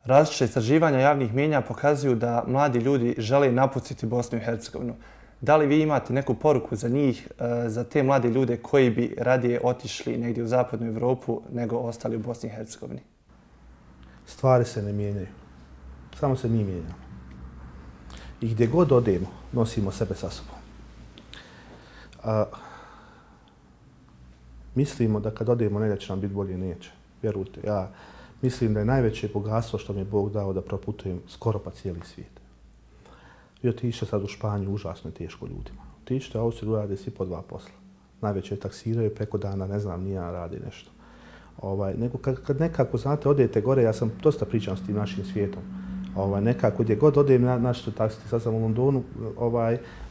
Različite istraživanja javnih mijenja pokazuju da mladi ljudi žele napustiti Bosnu i Hercegovinu. Da li vi imate neku poruku za njih, za te mlade ljude koji bi radije otišli negdje u zapadnu Evropu nego ostali u Bosni i Hercegovini? Stvari se ne mijenjaju. Samo se mi mijenjamo. I gdje god odemo, nosimo sebe sa sobom. Mislimo da kad odemo negdje će nam biti bolje, neće. Vjerujte, ja mislim da je najveće bogatstvo što mi je Bog dao da proputujem skoro pa cijeli svijet. Vi otište sad u Španiju, užasno je teško ljudima. Otište u Austriju, rade svi po 2 posla. Najveće taksiraju, preko dana, ne znam, nija radi nešto. Nego kad nekako, znate, odete gore, ja sam dosta pričam s tim našim svijetom. Nekako gdje god odem, naš su taksiti, sad sam u Londonu,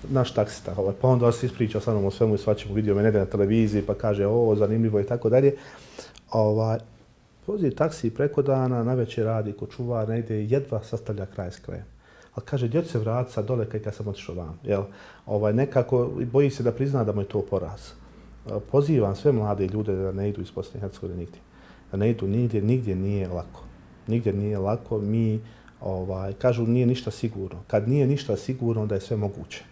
naš taksista, pa onda se ispričao sa mnom o svemu i svačemu, vidio me negdje na televiziji, pa kaže ovo, zanimljivo i tako dalje. Vozi taksi preko dana, navečer radi ko čuvar, negdje jedva sastavlja kraj s krajem. Ali kaže, gdje ću se vratiti sad dole kad sam otišao van. Nekako boji se da prizna da mu je to poraz. Pozivam sve mlade ljude da ne idu iz Bosne i Hercegovine nigdje. Da ne idu nigdje, nigdje nije lako. Nigdje nije lako, mi kažu nije ništa sigurno. Kad nije ništa sigurno, onda je sve moguće.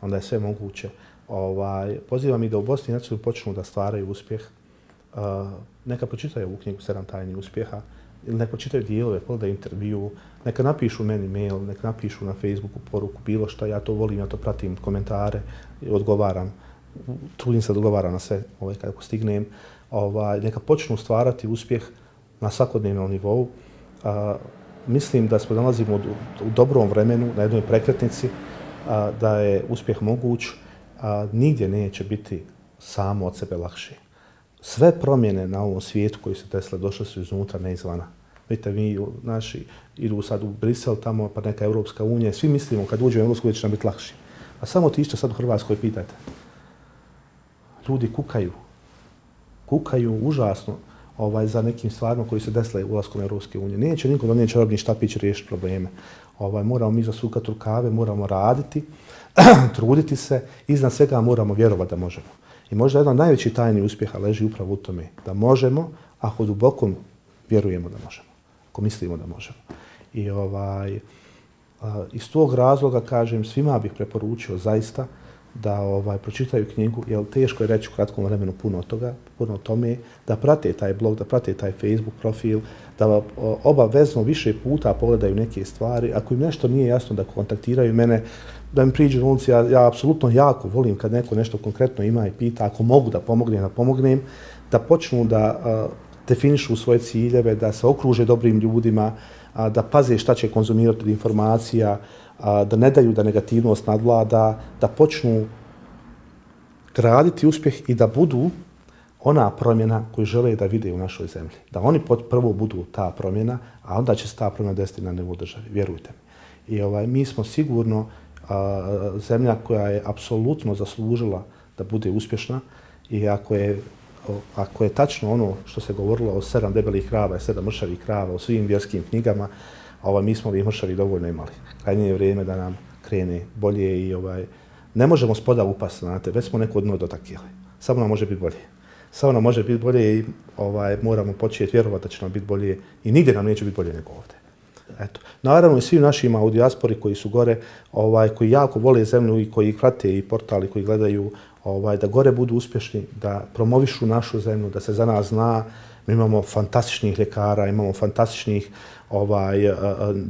Onda je sve moguće. Pozivam i da u Bosni i Hercegovini počnu da stvaraju uspjeh. Neka pročitaju ovu knjigu 7 tajni uspjeha, ili neka pročitaju dijelove, pogledaju intervju, neka napišu meni mail, neka napišu na Facebooku poruku, bilo što, ja to volim, ja to pratim, komentare, odgovaram, trudim se da odgovaram na sve kako stignem. Neka počnu stvarati uspjeh na svakodnevnom nivou. Mislim da se nalazimo u dobrom vremenu, na jednoj prekretnici, da je uspjeh moguć, nigdje neće biti samo od sebe lakše. Sve promjene na ovom svijetu koji se desile došle su iznutra, ne izvana. Vidite, mi naši idu sad u Brisel, tamo pa neka Europska unija, svi mislimo kad uđemo u Europsku uniju će nam biti lakše. A samo otište sad u Hrvatskoj i pitajte. Ljudi kukaju. Kukaju užasno za nekim stvarima koji se desile ulaskom u Europske unije. Neće niko donijeti čarobni štapić riješiti probleme. Moramo mi zasukati rukave, moramo raditi, truditi se, iznad svega moramo vjerovati da možemo. I možda jedan od najvećih tajni uspjeha leži upravo u tome da možemo, ako duboko vjerujemo da možemo, ako mislimo da možemo. I iz tog razloga, kažem, svima bih preporučio zaista da pročitaju knjigu, jer teško je reći u kratkom vremenu puno toga, puno o tome, da prate taj blog, da prate taj Facebook profil, da obavezno više puta pogledaju neke stvari. Ako im nešto nije jasno, da kontaktiraju mene, da mi priđu na ulici, ja apsolutno jako volim kad neko nešto konkretno ima i pita, ako mogu da pomognem, da počnu da definišu svoje ciljeve, da se okruže dobrim ljudima, da paze šta će konzumirati od informacija, da ne daju da negativnost nadvlada, da počnu graditi uspjeh i da budu ona promjena koju žele da vide u našoj zemlji. Da oni prvo budu ta promjena, a onda će se ta promjena desiti na nivou države, vjerujte mi. I mi smo sigurno zemlja koja je apsolutno zaslužila da bude uspješna i ako je tačno ono što se govorilo o 7 debelih krava i 7 mršavih krava u svim vjerskim knjigama, mi smo ovih mršavi dovoljno imali. Krajnje je vrijeme da nam krene bolje i ne možemo spoda upasti, znate, već smo neko dno dotakili. Samo nam može biti bolje. Samo nam može biti bolje i moramo početi vjerovati da će nam biti bolje i nigdje nam neće biti bolje nego ovdje. Eto. Naravno i svim našima u dijaspori koji su gore, koji jako vole zemlju i koji prate i portali koji gledaju, da gore budu uspješni, da promovišu našu zemlju, da se za nas zna. Mi imamo fantastičnih ljekara, imamo fantastičnih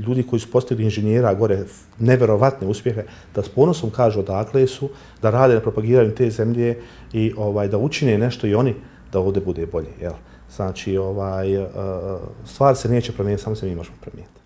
ljudi koji su postigli inženjera gore, neverovatne uspjehe, da s ponosom kažu odakle su, da rade na propagiranju te zemlje i da učine nešto i oni da ovdje bude bolje. Znači, stvar se neće promijeniti, samo se mi možemo promijeniti.